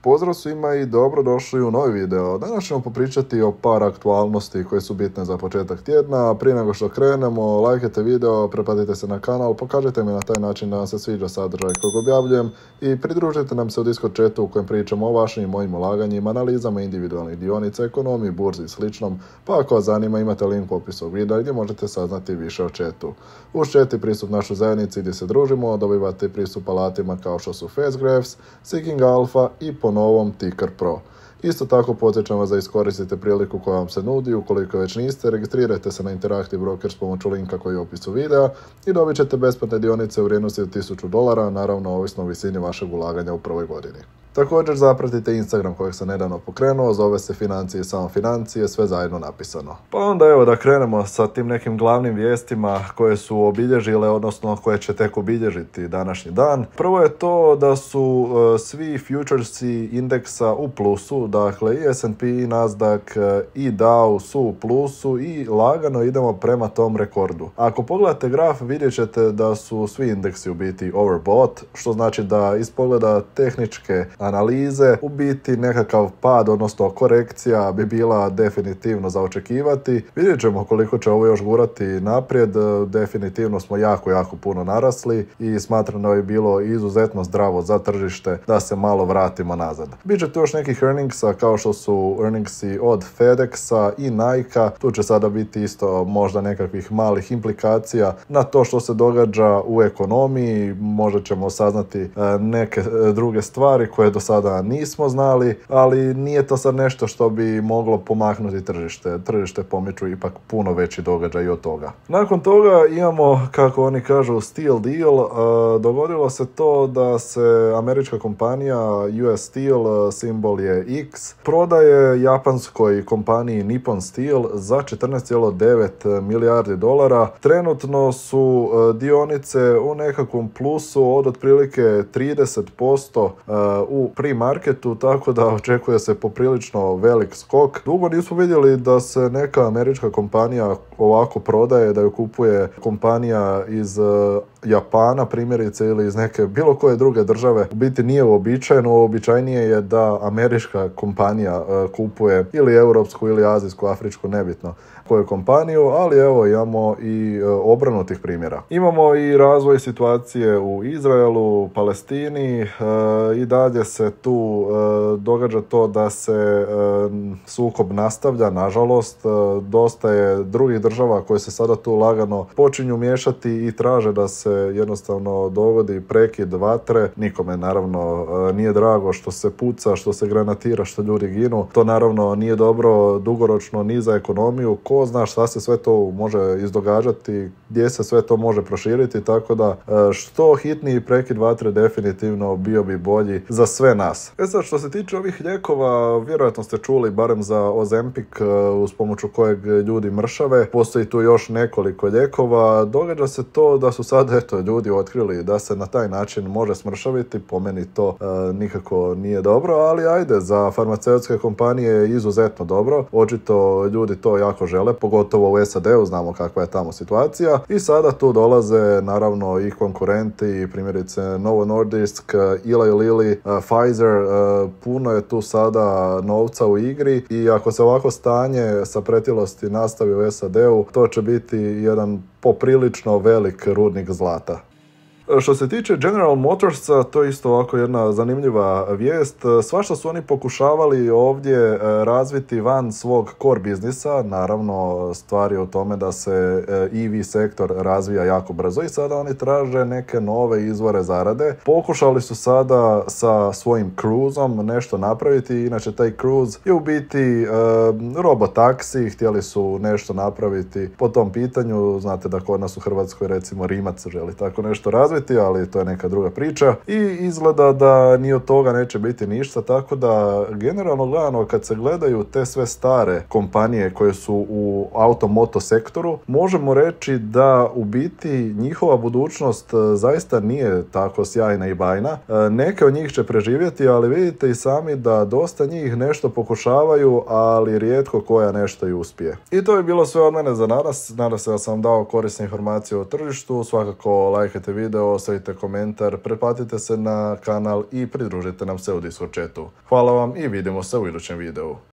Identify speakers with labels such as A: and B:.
A: Pozdrav svima i dobrodošli u novi video. Danas ćemo popričati o par aktualnosti koje su bitne za početak tjedna. Prije nego što krenemo, lajkajte video, pretplatite se na kanal, pokažite mi na taj način da vam se sviđa sadržaj kojeg objavljujem i pridružite nam se u Discord chatu u kojem pričamo o vašim i mojim ulaganjima, analizama individualnih dionica, ekonomiji, burzi i sličnom, pa ako vas zanima imate link u opisu videa gdje možete saznati više o chatu. Uz chat i pristup našoj zajednici gdje se družimo, dobivate pristup alatima kao što su Fastgraphs, Seeking Alpha i po novom Ticker Pro. Isto tako podsjećam vas da iskoristite priliku koja vam se nudi, ukoliko već niste, registrirajte se na Interactive Broker s pomoću linka koji je u opisu videa i dobit ćete besplatne dionice u vrijednosti od $1000, naravno ovisno o visini vašeg ulaganja u prvoj godini. Također zapratite Instagram kojeg sam nedavno pokrenuo, zove se Financije i samo financije, sve zajedno napisano. Pa onda evo da krenemo sa tim nekim glavnim vijestima koje su obilježile, odnosno koje će tek obilježiti današnji dan. Prvo je to da su svi futuresi indeksa u plusu, dakle i S&P, i Nasdaq, i Dow su u plusu i lagano idemo prema tom rekordu. Ako pogledate graf vidjet ćete da su svi indeksi u biti overbought, što znači da iz pogleda tehničke analize u biti nekakav pad, odnosno korekcija bi bila definitivno za očekivati. Vidjet ćemo koliko će ovo još gurati naprijed, definitivno smo jako puno narasli i smatram da bi bilo izuzetno zdravo za tržište da se malo vratimo nazad. Biće tu još nekih earningsa kao što su earningsi od FedExa i Nike-a, tu će sada biti isto možda nekakvih malih implikacija na to što se događa u ekonomiji, možda ćemo saznati neke druge stvari koje do sada nismo znali, ali nije to sad nešto što bi moglo pomaknuti tržište. Tržište pomiču ipak puno veći događaj od toga. Nakon toga imamo, kako oni kažu, Steel Deal. Dogodilo se to da se američka kompanija US Steel, simbol je X, prodaje japanskoj kompaniji Nippon Steel za $14,9 milijardi. Trenutno su dionice u nekakvom plusu od otprilike 30% u pre-marketu, tako da očekuje se poprilično velik skok. Dugo nismo vidjeli da se neka američka kompanija ovako prodaje, da ju kupuje kompanija iz Japana primjerice ili iz neke bilo koje druge države. U biti nije uobičajeno, uobičajenije je da američka kompanija kupuje ili europsku ili azijsku, afričku, nebitno koju kompaniju, ali evo imamo i obranutih primjera. Imamo i razvoj situacije u Izraelu, Palestini, i dalje se tu događa to da se sukob nastavlja, nažalost. Dosta je drugih država koje se sada tu lagano počinju miješati i traže da se jednostavno dogodi prekid vatre. Nikome naravno nije drago što se puca, što se granatira, što ljudi ginu. To naravno nije dobro dugoročno ni za ekonomiju. Ko zna šta se sve to može izdogađati, gdje se sve to može proširiti, tako da što hitniji prekid vatre definitivno bio bi bolji za sve nas. Sad što se tiče ovih lijekova, vjerojatno ste čuli barem za Ozempic uz pomoću kojeg ljudi mršave. Postoji tu još nekoliko lijekova. Događa se to da su sad ljudi otkrili da se na taj način može smršaviti. Po meni to nikako nije dobro, ali ajde, za farmaceutske kompanije je izuzetno dobro. Očito ljudi to jako žele, pogotovo u SAD-u, znamo kakva je tamo situacija. I sada tu dolaze naravno i konkurenti, primjerice Novo Nordisk, Eli Lilly, Pfizer, puno je tu sada novca u igri i ako se ovako stanje sa pretilosti nastavi u SAD-u, to će biti jedan poprilično velik rudnik zlata. Što se tiče General Motorsa, to je isto ovako jedna zanimljiva vijest. Svašta su oni pokušavali ovdje razviti van svog core biznisa. Naravno, stvar je u tome da se EV sektor razvija jako brzo i sada oni traže neke nove izvore zarade. Pokušali su sada sa svojim Cruiseom nešto napraviti, inače taj Cruise je u biti robotaksi, htjeli su nešto napraviti po tom pitanju. Znate da kod nas u Hrvatskoj recimo Rimac želi tako nešto razviti, ali to je neka druga priča i izgleda da ni od toga neće biti ništa, tako da generalno gledano kad se gledaju te sve stare kompanije koje su u automoto sektoru, možemo reći da u biti njihova budućnost zaista nije tako sjajna i bajna. Neke od njih će preživjeti, ali vidite i sami da dosta njih nešto pokušavaju, ali rijetko koja nešto i uspije. I to je bilo sve od mene za danas. Nadam se da sam vam dao korisne informacije o tržištu. Svakako lajkajte video, video, ostavite komentar, pretplatite se na kanal i pridružite nam se u Discord chatu. Hvala vam i vidimo se u idućem videu.